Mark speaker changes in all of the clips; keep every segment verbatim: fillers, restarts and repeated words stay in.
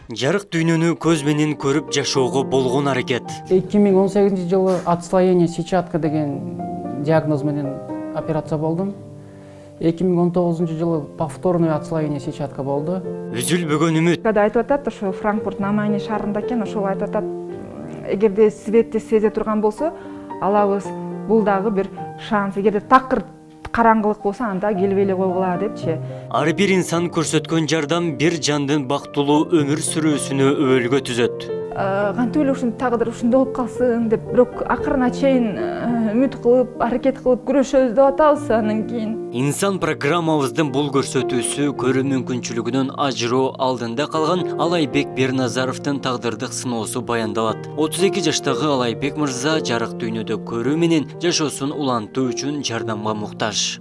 Speaker 1: Жарык дүйнөнү көз менен көрүп жашоого болгон аракет.
Speaker 2: эки миң он сегизинчи жылы отслоение сетчатка деген диагноз менен операция болдум. эки миң он тогузунчу жылы повторный отслоение сетчатка болду.
Speaker 1: Үзүлбөгөн үмүт.
Speaker 3: Когда айтып атат, ошо Франкфурт на Майне шаарында экен, ошол айтып атат, эгерде светти сезе турган болсо, алабыз бул дагы бир шанс. Эгерде такыр караңгылык болсо, анда келип эле койгула депчи.
Speaker 1: Ар бир инсан көрсөткөн жардам бир жандын бактылуу өмүр сүрүүсүнө өбөлгө түзөт.
Speaker 3: Кантип эле ушунун тагдыры ушундай болуп калсын деп, бирок акырына чейин үмүт кылып, аракет кылып күрөшөбүз деп атабыз андан кийин.
Speaker 1: Инсан программабыздын бул көрсөтүүсү көрүү мүмкүнчүлүгүнөн ажыроо алдында калган Алайбек Берназаровдун тагдырдык сыноосу баяндалат. отуз эки жаштагы Алайбек мырза жарык дүйнөдө көрүү менен жашоосун улантуу үчүн жардамга муктаж.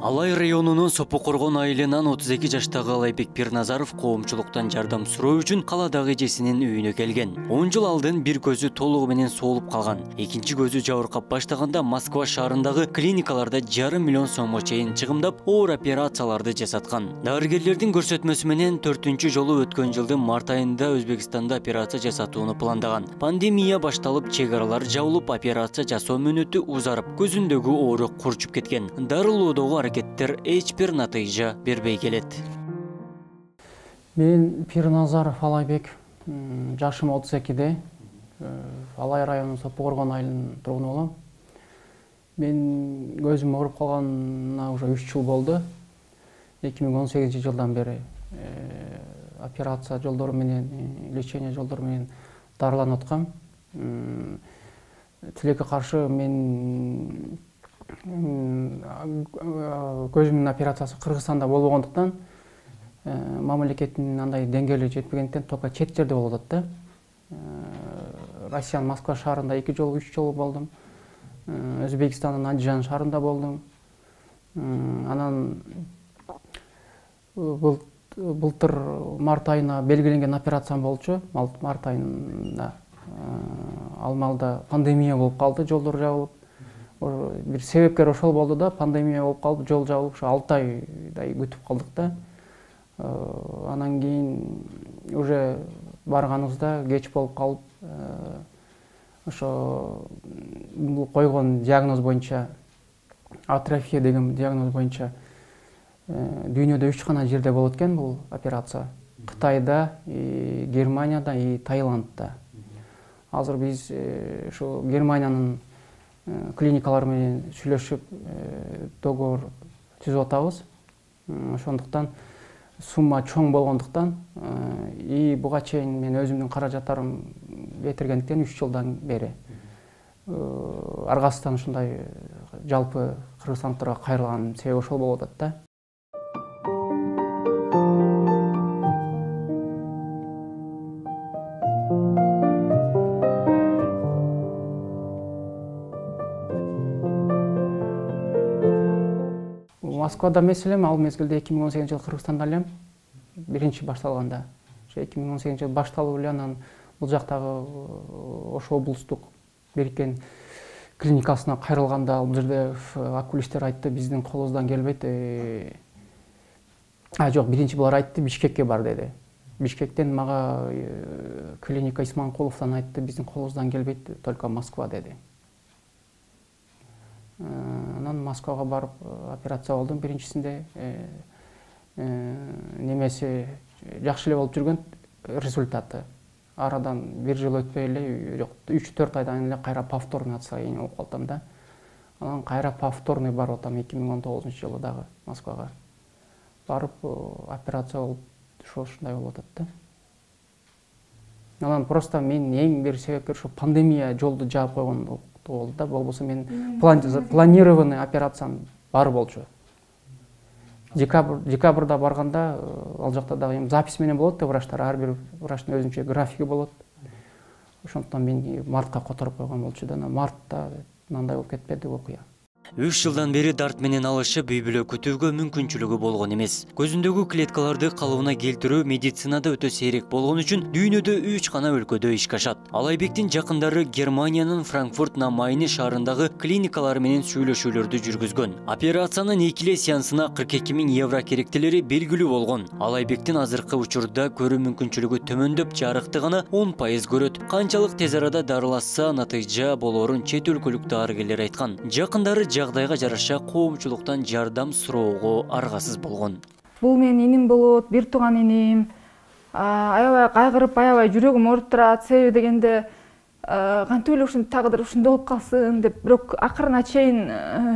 Speaker 1: Алай районунун Сопо Коргон айылынан отуз эки жаштагы Алайбек Берназаров коомчулуктан жардам суроо үчүн каладагы эжесинин үйүнө келген. он жыл алдын бир көзү толугу менен соолуп калган. Экинчи көзү жабыркап баштаганда Москва шаарындагы клиникаларда жарым миллион сомго чейин чыгымдап, оор операцияларды жасаткан. Дарыгерлердин көрсөтмөсү менен төртүнчү жолу өткөн жылдын март айында Өзбекстанда операция жасатууну пландаган. Пандемия башталып, чек аралар жабылып, операция жасоо мөөнөтү узарып, көзүндөгү оору курчуп кеткен. Дарылоодогу аракеттер эч бир натыйжа бербей келет.
Speaker 2: Мен Пирназаров Алайбек, жашым отуз экиде, Алай районунун Сопо Коргон айылынын тургуну болом. Мен көзүм ооруп калганына уже үч жыл болду. эки миң он сегизинчи жылдан бери операция жолдору менен, лечение жолдору менен дарыланып аткам. Тилекке каршы мен көзүмдүн операциясы Кыргызстанда болбогондуктан, мамлекеттин андай деңгээли жетпегендиктен только чет жерде болуп атат да. Россиянын Москва шаарында эки жолу, үч жолу болдум. Өзбекстандын Андижан шаарында болдум. Анан былтыр март айына белгиленген операциям болчу. Март айында ал маалда пандемия болуп калды, жолдор жабылып. Бир себепкер ошол болду да, пандемия болуп калды, жол жабылып, ошо алты айдай күтүп калдык да. Анан кийин уже барганыбызда кеч болуп калып, ошо койгон диагноз боюнча, атрофия деген диагноз боюнча дүйнөдө үч гана жерде болот экен бул операция. Кытайда, Германияда и Таиландда. Азыр биз ошо Германиянын клиникалар менен сүйлөшүп, договор түзүп атабыз. Ошондуктан сумма чоң болгондуктан и буга чейин мен өзүмдүн каражаттарым кетиргендиктен үч жылдан бери аргасынан ушундай жалпы кыргызстандыктарга кайрылган себеби ошол болуп атат да. Москвада эмес элем, ал мезгилде эки миң он сегизинчи жылы Кыргызстанда элем, биринчи башталганда. эки миң он сегизинчи жылы башталып эле, анан бул жактагы Ош облустук бириккен клиникасына кайрылганда, бул жерде окулисттер айтты, биздин колубуздан келбейт. А жок, биринчи булар айтты, Бишкекке бар деди. Бишкектен мага клиника Исманкуловдон айтты, биздин колубуздан келбейт, только Москва деди. Анан Москвага барып операция болдум биринчисинде. Немеси жакшы эле болуп жүргөн, результаты. Арадан бир жыл өтпөй эле, жок, үч төрт айдан эле кайра повторный отслоение болуп калдым да. Анан кайра повторный барып атам эки миң он тогузунчу жылы дагы Москвага. Барып операция болуп, ушундай болуп атат да. Анан просто мен эң бир себепкер ушу пандемия жолду жаап койгон болду да, болбосо мен планированный операциям бар болчу. Декабрда барганда ал жакта дагы запись менен болот да, врачтар, ар бир врачтын өзүнчө графиги болот. Ошондуктан мен мартка которуп койгон болчу да, мартта мындай болуп кетпеди окуя.
Speaker 1: үч жылдан бери дарт менен алышып үй бүлө күтүүгө мүмкүнчүлүгү болгон эмес. Көзүндөгү клеткаларды калыбына келтирүү медицинада өтө сейрек болгон үчүн дүйнөдө үч гана өлкөдө ишке ашат. Алайбектин жакындары Германиянын Франкфурт на Майне шаарындагы клиникалар менен сүйлөшүүлөрдү жүргүзгөн. Операциянын экиле сеансына кырк эки миң евро керектелери белгилүү болгон. Алайбектин азыркы учурда көрүү мүмкүнчүлүгү төмөндөп, жарыктыгына он пайыз көрөт. Канчалык тез арада дарылашса натыйжа болорун чет өлкөлүк дарыгерлер айткан. Жакындары жагдайга жараша коомчулуктан жардам суроого аргасыз болгон.
Speaker 3: Бул менин иним болот, бир тууган иним. Аябай кайгырып, аябай жүрөгүм ооруп турат. Себеби дегенде кантип эле ушинтип тагыдыр ушундай болуп калсын деп, бирок акырына чейин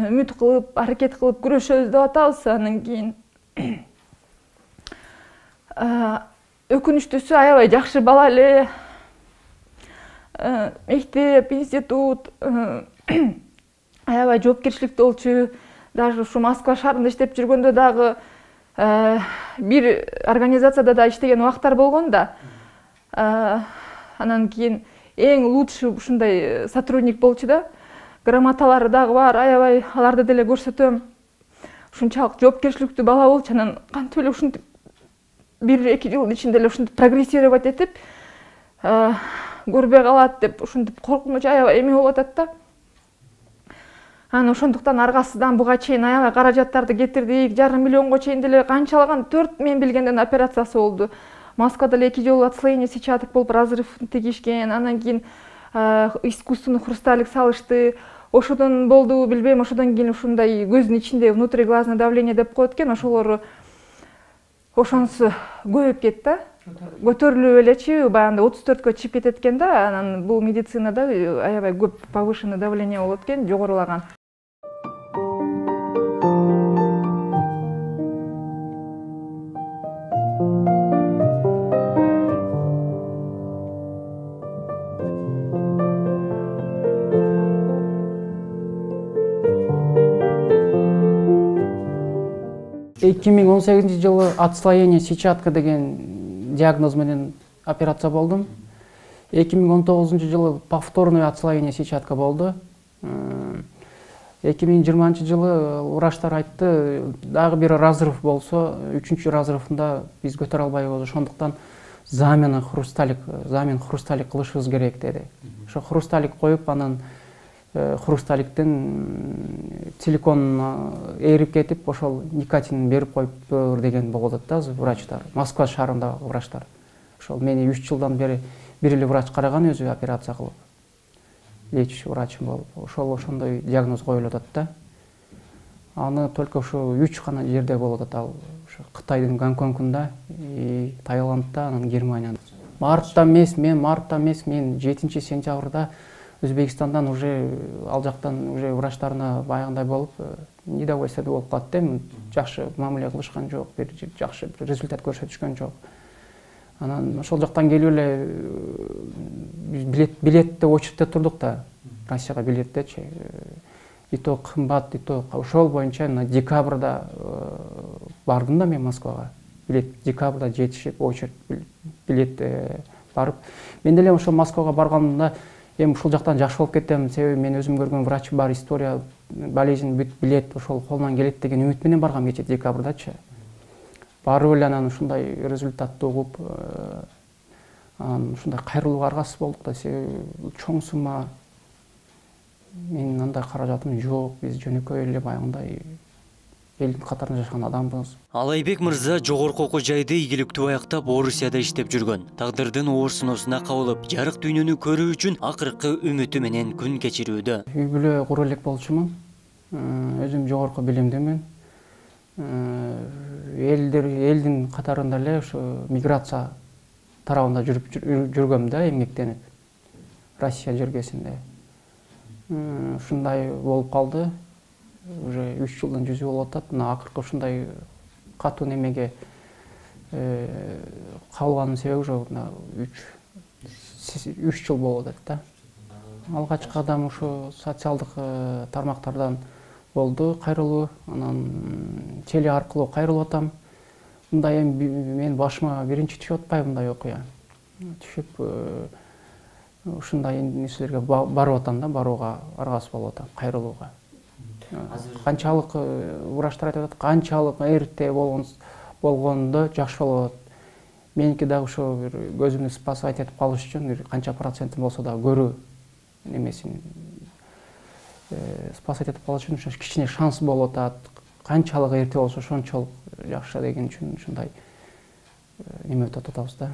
Speaker 3: үмүт кылып, аракет кылып күрөшөбүз деп атабыз. Андан кийин өкүнүчтүүсү аябай жакшы бала эле. Мектеп, институт аябай жоопкерчиликтүү болчу. Даже ушу Москва шаарында иштеп жүргөндө дагы бир организацияда да иштеген убактар болгон да. Анан кийин эң лучший ушундай сотрудник болчу да. Грамоталары дагы бар, аябай аларды деле көрсөтөм. Ушунчалык жоопкерчиликтүү бала болчу. Анан кантип эле ушинтип бир эки жылдын ичинде эле ушинтип прогрессировать этип көрбөй калат деп ушинтип коркунуч аябай эме болуп атат да. Анан ошондуктан аргасыздан буга чейин аябай каражаттарды кетирдик. Жарым миллионго чейин деле канчалаган төрт мен билгенден операциясы болду. Москвада эле эки жолу отслоение сетчаток болуп разрыв тигишкен. Анан кийин искусственный хрусталик салышты. Ошодон болду, билбейм, ошодон кийин ушундай көздүн ичинде внутриглазное давление деп коет экен. Ошолору ошонусу көбөйүп кетти. Көтөрүлүп элечи, баягындай отуз төрткө чыгып кетет экен да. Анан бул медицинада аябай көп повышенное давление болот экен, жогорулаган.
Speaker 2: эки миң он сегизинчи жылы отслоение сетчатка деген диагноз менен операция болдум. эки миң он тогузунчу жылы повторный отслоение сетчатка болду. эки миң жыйырманчы жылы врачтар айтты, дагы бир разрыв болсо, үчүнчү разрывында биз көтөрө албайбыз, ошондуктан замена хрусталик, замен хрусталик кылышыбыз керек деди. Ошо хрусталик коюп, анан хрусталиктин силиконуна эрип кетип, ошол никотин берип коюптур деген болуп атат да врачтар. Москва шаарындагы врачтар. Ошол мени үч жылдан бери бир эле врач караган, өзү операция кылып. Лечащий врачым болуп, ошол ошондой диагноз коюлуп атат да. Аны только ушу үч гана жерде болуп атат, ал ошо Кытайдын Гонконгунда, Таиландда, анан Германияда. Мартта эмес, мен мартта эмес, мен жетинчи сентябрда Өзбекстандан уже ал жактан уже врачтарына баягындай болуп, недовольство болуп калат да, жакшы мамиле кылышкан жок, бир жакшы результат көрсөтүшкөн жок. Анан ошол жактан келип эле билет билетте очередте турдук да, Россияга билеттечи. И то кымбат, и то ошол боюнча декабрда бардым да мен Москвага. Билет декабрда жетишип, очередь билет барып. Мен деле ошол Москвага барганда эми ушул жактан жакшы болуп кетем, себеби мен өзүм көргөн врач бар, история, болезнь бүт билет, ошол колунан келет деген үмүт менен баргам кече декабрдачы. Барып эле анан ушундай результатты угуп, анан ушундай кайрылууга аргасыз болдук да, себеби чоң сумма, менин андай каражатым жок, биз жөнөкөй эле баягындай элдин катарында жашаган адамбыз.
Speaker 1: Алайбек мырза жогорку окуу жайды ийгиликтүү аяктап Орусияда иштеп жүргөн. Тагдырдын оор сыноосуна кабылып, жарык дүйнөнү көрүү үчүн акыркы үмүтү менен күн кечирүүдө.
Speaker 2: Үй бүлө кура элек болчумун. Өзүм жогорку билимдимин. Элдер элдин катарында эле ошо миграция тарабында жүрүп жүргөм да, эмгектенип. Россия жергесинде. Ушундай болуп калды. Уже үч жылдан жүзү болуп атат. Мына акыркы ушундай катуу немеге кабылганын себеби ошо үч жыл болуп атат да. Алгачкы кадам ушу социалдык тармактардан болду, кайрылуу, анан теле аркылуу кайрылып атам. Мындай эми мен башыма биринчи түшүп атпайбы мындай окуя. Түшүп ушундай нерселерге барып атам да, барууга аргасыз болуп атам, кайрылууга. Канчалык врачтар айтып атат, канчалык эрте болгондо жакшы болот. Меники дагы ошо бир көзүмдү спасать этип калыш үчүн бир канча процентин болсо да көрүү немесин спасать этип калыш үчүн ошо кичине шанс болуп атат. Канчалык эрте болсо ошончолук жакшы деген үчүн ушундай неме өтүп атабыз да.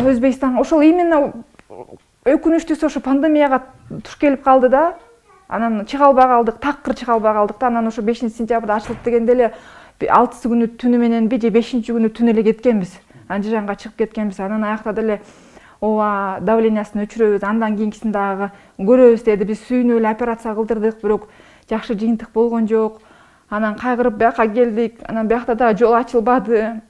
Speaker 3: Өзбекстан ошол именно өкүнүчтүүсү ошо пандемияга туш келип калды да. Анан чыга албай калдык, такыр чыга албай калдык да. Анан ошо бешинчи сентябрда ачылып дегенде эле алтысы күнү түнү мененби же бешинчи күнү түнү эле кеткенбиз. Андижанга чыгып кеткенбиз. Анан аякта деле ооба давлениясын өчүрөбүз, андан кийинкисин дагы көрөбүз деди. Биз сүйүнүп эле операция кылдырдык, бирок жакшы жыйынтык болгон жок. Анан кайгырып бияка келдик. Анан биякта дагы жол ачылбады.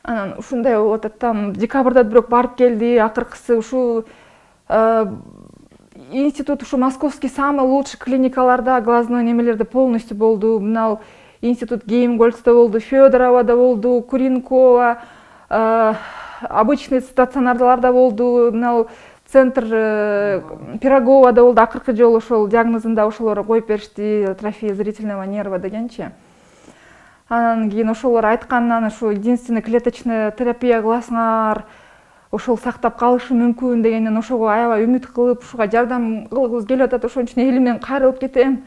Speaker 3: Анан ушундай болуп атат. Там декабрда бирок барып келди. Акыркысы ушу институт ушу московский самый лучший клиникаларда глазной немелерде полностью болду. Мынау институт Геймгольцда болду, Федоровада болду, Куренкова, обычный стационарларда болду. Мынау центр Пироговада болду. Акыркы жолу ошол диагнозунда ошолор коюп беришти, атрофия зрительного нерва дегенчи. Анан кийин ошолор айткандан ушу единственный клеточная терапия кыласыңар, ошол сактап калышы мүмкүн дегенден ошого аябай үмүт кылып, ушуга жардам кылгыбыз келип атат. Ошон үчүн элимден кайрылып кетем.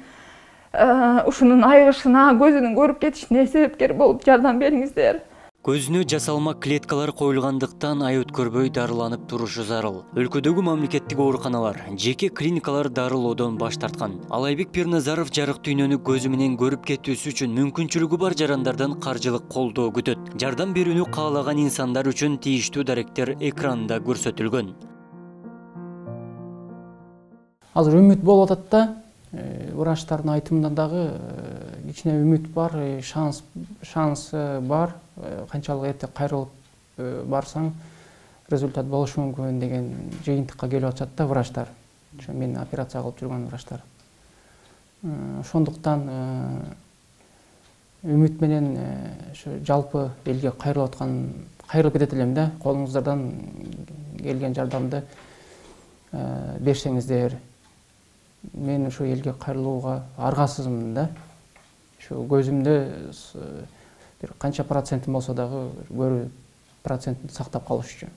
Speaker 3: Ушунун айыгышына, көзүнүн көрүп кетишине себепкер болуп жардам бериңиздер.
Speaker 1: Көзүнө жасалма клеткалар коюлгандыктан ай өткөрбөй дарыланып турушу зарыл. Өлкөдөгү мамлекеттик ооруканалар, жеке клиникалар дарылоодон баш тарткан. Алайбек Пирназаров жарык дүйнөнү көзү менен көрүп кетүүсү үчүн мүмкүнчүлүгү бар жарандардан каржылык колдоо күтөт. Жардам берүүнү каалаган инсандар үчүн тийиштүү даректер экранда көрсөтүлгөн.
Speaker 2: Азыр үмүт болуп атат да. Врачтардын айтымында дагы кичине үмүт бар, шанс шанс бар. Канчалык эрте кайрылып барсаң результат болушу мүмкүн деген жыйынтыкка келип атышат да врачтар. Ошо мен операция кылып жүргөн врачтар. Ошондуктан үмүт менен ошо жалпы элге кайрылып аткан, кайрылып кетет элем да. Колуңуздардан келген жардамды берсеңиздер. Мен ошо элге кайрылууга аргасызмын да. Ошо көзүмдө бир канча процентин болсо дагы көрүү процентин сактап калыш үчүн.